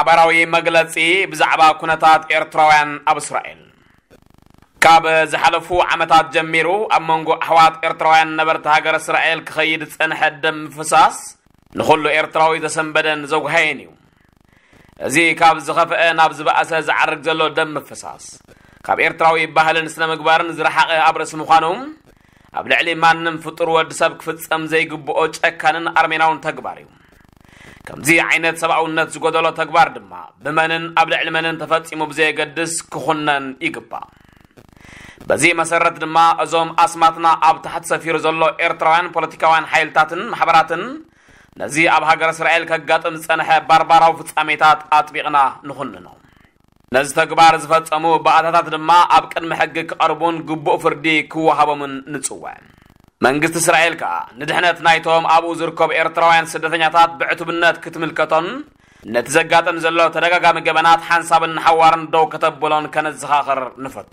ሓባራዊ መግለጺ ብዛዕባ ኩነታት ኤርትራውያን ኣብ እስራኤል። ካብ ዝሓለፉ ዓመታት ጀሚሩ ኣብ መንጎ ኣሕዋት ኤርትራውያን ነበርቲ ሃገር እስራኤል ክኸይድ ዝጸንሐ ደም ምፍሳስ ንኹሉ ኤርትራዊ ዘሰንበደን ዘጉሃየን እዩ። እዚ ካብ ዝኸፍአ ናብ ዝበኣሰ ዝዓርግ ዘሎ ደም ምፍሳስ፣ ካብ ኤርትራዊ ባህልን ስነ ምግባርን ዝረሓቐ ኣብ ርእሲ ምዃኑ፣ ኣብ ልዕሊ ማንም ፍጡር ወዲ ሰብ ክፍጸም ዘይግብኦ ጨካንን ኣርሜናውን ተግባር እዩ። ከምዚ ዓይነት ሰብኣውነት ዝጎደሎ ተግባር ድማ ብመንን ኣብ ልዕሊ መንን ተፈጺሙ ብዘየገድስ ክኹነን ይግባእ። በዚ መሰረት ድማ እዞም ኣስማትና ኣብ ታሕቲ ሰፊሩ ዘሎ ኤርትራውያን ፖለቲካውያን ሓይልታትን ማሕበራትን ነዚ ኣብ ሃገር እስራኤል ከጋጥም ዝጸንሐ ባርባራዊ ፍጻሜታት ኣጥቢቕና ንኹንኖ። ነዚ ተግባር ዝፈጸሙ ባእታታት ድማ ኣብ ቅድሚ ሕጊ ክቐርቡን ግቡእ ፍርዲ ክወሃቦምን ንጽውዕ። መንግስቲ እስራኤል ከኣ ንድሕነት ናይቶም ኣብኡ ዝርከቡ ኤርትራውያን ስደተኛታት ብዕቱብነት ክትምልከቶን ነቲ ዘጋጥም ዘሎ ተደጋጋሚ ገበናት ሓንሳብን ንሓዋርን ደው ከተብሎን ከነዘኻኽር ንፈቱ።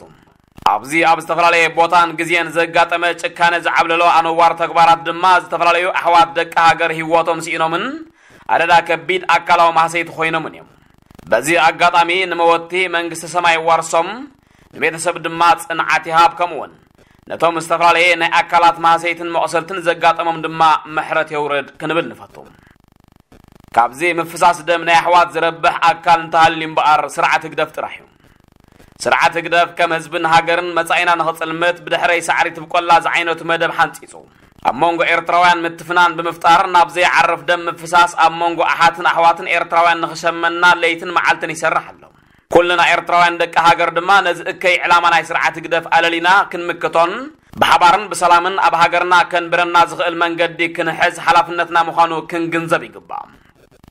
ኣብዚ ኣብ ዝተፈላለየ ቦታን ግዜን ዘጋጠመ ጭካነ ዝዓብለሎ ኣነዋር ተግባራት ድማ ዝተፈላለዩ ኣሕዋት ደቂ ሃገር ህይወቶም ስኢኖምን ኣደዳ ከቢድ ኣካላዊ ማህሰይቲ ኮይኖምን እዮም። በዚ ኣጋጣሚ ንመወቲ መንግስቲ ሰማይ ዋርሶም፣ ንቤተሰብ ድማ ጽንዓት ይሃብ፣ ከምኡውን ነቶም ዝተፈላለየ ናይ ኣካላት ማህሰይትን መቑሰልትን ዘጋጠሞም ድማ ምሕረት የውርድ ክንብል ንፈቱ። ካብዚ ምፍሳስ ደም ናይ ኣሕዋት ዝረብሕ ኣካል እንተሃልዩ እምበኣር ስርዓት ህግደፍ ጥራሕ እዩ። ስርዓት ህግደፍ ከም ህዝብን ሃገርን መጻኢና ንኽጽልምት ብድሕረይ ሳዕሪ ትብቆላ ዝዓይነቱ መደብ ሓንጺጹ፣ ኣብ መንጎ ኤርትራውያን ምትፍናን ብምፍጣር ናብ ዘይዓርፍ ደም ምፍሳስ ኣብ መንጎ ኣሓትን ኣሕዋትን ኤርትራውያን ንኽሸመና ለይትን መዓልትን ይሰርሕ ኣሎ። ኩልና ኤርትራውያን ደቂ ሃገር ድማ ነዚ እከይ ዕላማ ናይ ስርዓት ህግደፍ ኣለሊና ክንምክቶን ብሓባርን ብሰላምን ኣብ ሃገርና ከንብረና ዝኽእል መንገዲ ክንሕዝ ሓላፍነትና ምዃኑ ክንግንዘብ ይግባእ።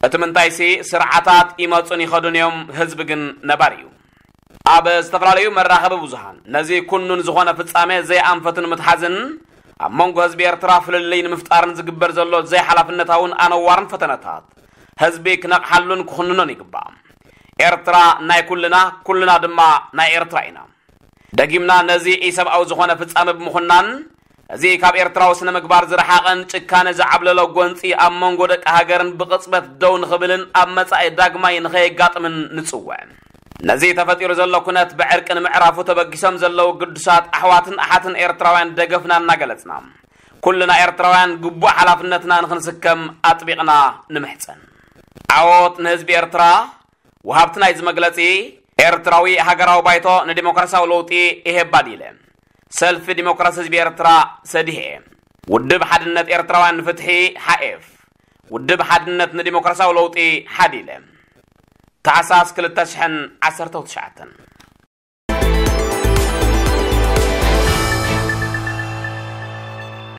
እቲ ምንታይሲ ስርዓታት ይመጹን ይኸዱን እዮም፣ ህዝቢ ግን ነባሪ እዩ። ኣብ ዝተፈላለዩ መራኸቢ ብዙሃን ነዚ ኩኑን ዝኾነ ፍጻሜ ዘይኣንፈቱ ንምትሓዝን ኣብ መንጎ ህዝቢ ኤርትራ ፍልልይ ንምፍጣርን ዝግበር ዘሎ ዘይሓላፍነታውን ኣነዋርን ፈተነታት ህዝቢ ክነቕሓሉን ክኹንኖን ይግባእ። ኤርትራ ናይ ኩልና፣ ኩልና ድማ ናይ ኤርትራ ኢና። ደጊምና ነዚ ኢሰብኣዊ ዝኾነ ፍጻመ ብምኹናን፣ እዚ ካብ ኤርትራዊ ስነ ምግባር ዝረሓቐን ጭካነ ዝዓብለሎ ጎንጺ ኣብ መንጎ ደቂ ሃገርን ብቕጽበት ደው ንኽብልን ኣብ መጻኢ ዳግማይ ንኸየጋጥምን ንጽውዕ። ነዚ ተፈጢሩ ዘሎ ኩነት ብዕርቂ ንምዕራፉ ተበጊሶም ዘለዉ ግዱሳት ኣሕዋትን ኣሓትን ኤርትራውያን ደገፍና እናገለጽና፣ ኩልና ኤርትራውያን ግቡእ ሓላፍነትና ንኽንስከም ኣጥቢቕና ንምሕጸን። ዓወት ንህዝቢ ኤርትራ! ወሃብቲ ናይዚ መግለጺ፣ ኤርትራዊ ሃገራዊ ባይቶ ንዲሞክራሲያዊ ለውጢ፣ ኢሄባዲለ፣ ሰልፊ ዲሞክራሲ ህዝቢ ኤርትራ፣ ሰዲህኤ፣ ውድብ ሓድነት ኤርትራውያን ንፍትሒ፣ ሓኤፍ፣ ውድብ ሓድነት ንዲሞክራሲያዊ ለውጢ፣ ሓዲለ። ታሕሳስ ክልተ ሽሕን ዓሰርተው ትሽዓተን።